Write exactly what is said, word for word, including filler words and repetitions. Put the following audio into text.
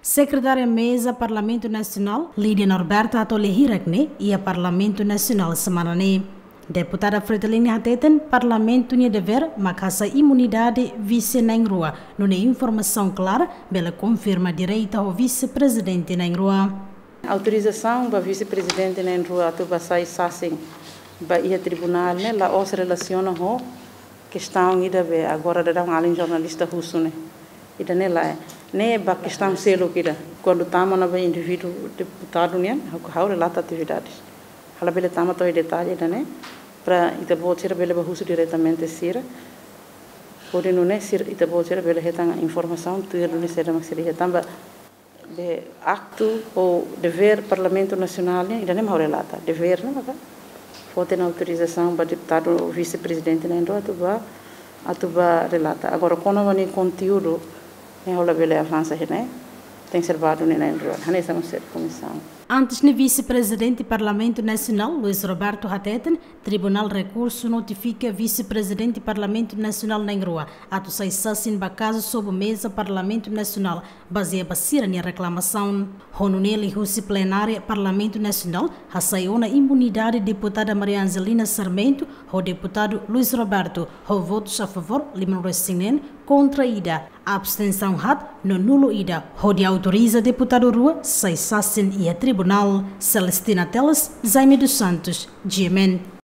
Sekretária Meza Parlamentu Nasionál, Lídia Norberto, hato'o lia hirak ne'e iha Parlamentu Nasionál semana ne'e. Deputada Fretilin hateten Parlamentu nia devér mak hasai imunidade vise na'in-rua, nune'e informasaun klaru bele konfirma direta ho vise-prezidente na'in-rua. Autorizasaun ba vise-prezidente na'in-rua atu ba sai sasin ba iha tribunál ne'e la'ós relasiona ho kestaun ida be agora daudaun alin jornalista husu ne'e. Ida-ne'e lae, ne'e ba kestaun seluk ida. Kuandu tama ona ba indivíduu deputadu nian, ha'u, ha'u relata atividades. Ha'u labele tama to'o detalle ida-ne'e, para ita-boot sira bele ba husu diretamente sira. Hodi nune'e sira, ita-boot sira bele hetan informasaun tuir duni saida mak sira hetan ba be aktu ou devér Parlamentu Nasionál nian, ida-ne'e mak ha'u relata. Devér ne'e maka foti ona autorizasaun ba deputadu vise-prezidente na'in-rua atu ba, atu ba relata. Agora, kona-ba nia konteúdu, ne'e ha'u labele avansa iha ne'e, tenke ser ba duni na'in-rua. Hanesan mós ser komisaun. Antes ne'e, vise-prezidente Parlamentu Nasionál, Luís Roberto, hateten Tribunál Rekursu notifika vise-prezidente Parlamentu Nasionál na'in-rua atu sai sasin ba kazu sobu meza Parlamentu Nasionál, bazeia ba sira-nia reklamasaun. Ho nune'e liuhusi plenária Parlamentu Nasionál hasai ona imunidade deputada Maria Angelina Sarmento ho deputadu Luís Roberto, ho votus a favór lima-nulu-resin-neen, kontra ida, abstensaun haat no nulu ida, hodi autoriza deputadu rua sai sasin iha tribunál. Celestina Teles, Jaime dos Santos, G M N.